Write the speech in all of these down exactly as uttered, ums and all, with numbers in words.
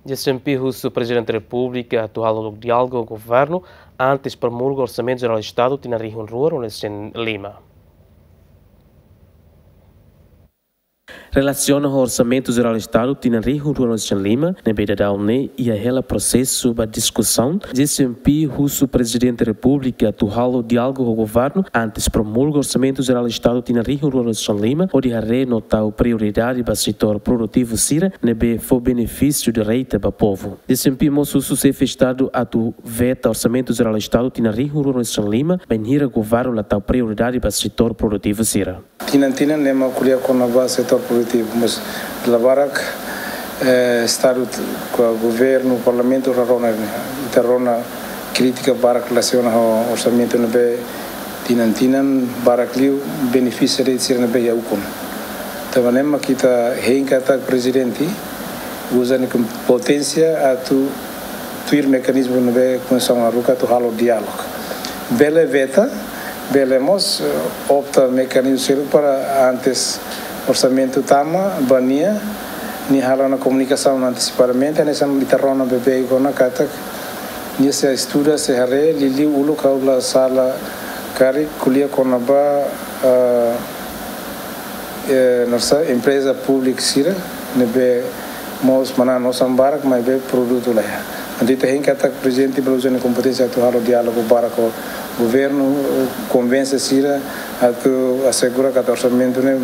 G C M P husu Prezidente Repúblika atu halo diálogu ho governu antes promulga Orsamentu Jerál Estadu tinan rihun rua ruanulu-resin-lima. Relasiona ho Orsamentu Jerál Estadu tinan rihun rua ruanulu-resin-lima, ne'ebé daudaun ne'e iha hela prosesu ba diskusaun, G C M P husu Prezidente Repúblika atu halo diálogu ho governu antes promulga Orsamentu Jerál Estadu tinan rihun rua ruanulu-resin-lima, hodi haree no tau prioridade ba setór produtivu sira ne'ebé fó benefísiu direta ba povu. G C M P mós husu Xefe Estadu atu veta Orsamentu Jerál Estadu tinan rihun rua ruanulu-resin-lima, bainhira governu la tau prioridade ba setór produtivu sira. Tinan-tinan ne'e mak ko'alia kona-ba setór produtivu, mas dala barak, eh, Estadu t-, ka governu, parlamentu la rona, ita rona krítika barak relasiona ho orsamentu ne'ebé tinan-tinan barak liu benefísiu de'it sira ne'ebé iha ukun. Tanba ne'e mak ita hein katak Prezidente uza nia kompeténsia atu tuir mekanizmu ne'ebé Konstituisaun haruka atu halo diálogu. Bele veta, bele mós, eh, opta mekanizmu seluk para antes orsamentu tama ba nia, nia halo ona komunikasaun antesipadamente, hanesan ita rona beibeik ona katak nia sei estuda, sei haree, liuliu uluk ha'u la sala karik ko'alia kona-ba, eh, eh, nossa empreza públika sira, ne'ebé mós manán osan barak, maibé produtu la iha. Entaun ita hein katak Prezidente bele uza nia kompeténsia atu halo diálogu barak ho governu, konvense sira, atu asegura katak orsamentu ne'e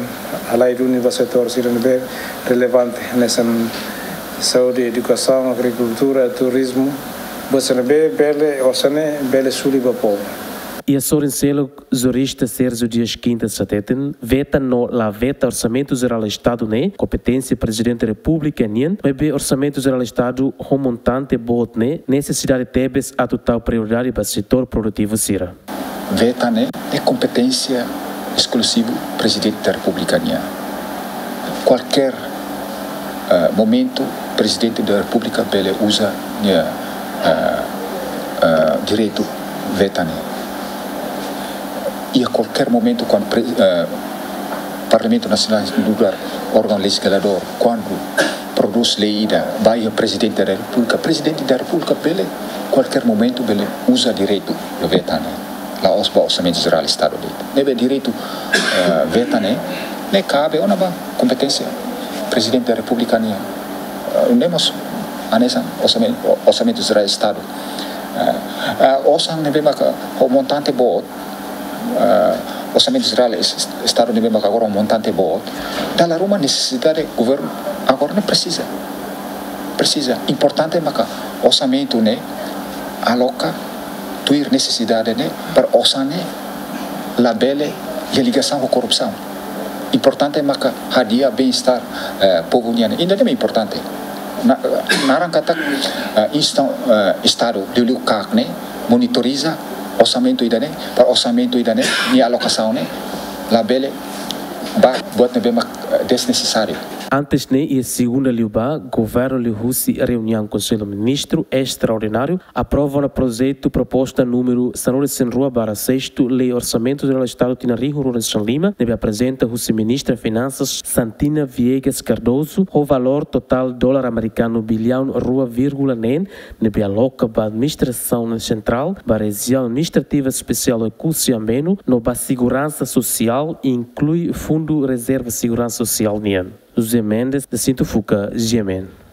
halai duni ba setór sira ne'ebé relevante, hanesan saúde, edukasaun, agrikultura, turizmu, buat sira ne'ebé bele, osan ne'e bele suli ba povu. Iha sorin seluk, jurista Sérgio Dias Quintas hateten, veta no la veta Orsamentu Jerál Estadu ne'e kompeténsia Prezidente Repúblika nian, maibé Orsamentu Jerál Estadu ho montante boot ne'e nesesidade tebes atu tau prioridade ba setór produtivu sira. Veta ne'e, ne'e kompeténsia eskluzivu Prezidente da Repúblika nian. Kualkér, eh, momentu, Prezidente da Repúblika bele uza nia, eh, eh, direitu veta ne'e. Iha kualkér momentu, kuandu pre-, eh, Parlamentu Nasionál nu'udar órgaun lejizladór, kuandu prodús lei ida, ba iha Prezidente da Repúblika, Prezidente da Repúblika bele, kualkér momentu, bele uza direitu veta ne'e. La'ós ba Orsamentu Jerál Estadu de'it. Ne'ebé direitu, eh, veta ne'e, ne'e kabe ona ba kompeténsia Prezidente da Repúblika nian. Eh, ne'e mós hanesan orsamen-, Orsamentu Jerál Estadu. Eh, eh, osan ne'ebé maka ho montante boot, eh, Orsamentu Jerál Es-, Estadu ne'ebé maka agora ho montante boot, dala ruma nesesidade governu agora ne'e presiza. Presiza. Importante maka orsamentu ne'e aloka tuir nesesidade ne'e, para osan ne'e labele iha ligasaun ho korrupsaun. Importante maka hadi'a bem-estar, eh, povu nian. Ida-ne'e importante. Na-, naran katak, eh, insta-, eh, Estadu, liuliu KAK ne'e, monitoriza orsamentu ida-ne'e, para orsamentu ida-ne'e, nia alokasaun ne'e, labele ba buat ne'ebé mak, eh, desnesesáriu. Antes ne'e, iha segunda liubá, governu liuhusi reuniaun Konsellu Ministru estraordináriu aprova ona projetu proposta númeru sanulu-resin-rua barra sexto, Lei Orsamentu Jerál Estadu tinan rihun rua ruanulu-resin-lima, ne'ebé aprezenta husi Ministra Finansas Santina Viegas Cardoso, ho valór totál dolar amerikanu biliaun rua vírgula neen, ne'ebé aloka ba administrasaun sentrál, ba rejiaun administrativa espesiál Oekusi Ambeno, no ba seguransa sosiál, inklui Fundu Rezerva Seguransa Sosiál nian. José Mendes, Jacinto Fuca, G M N.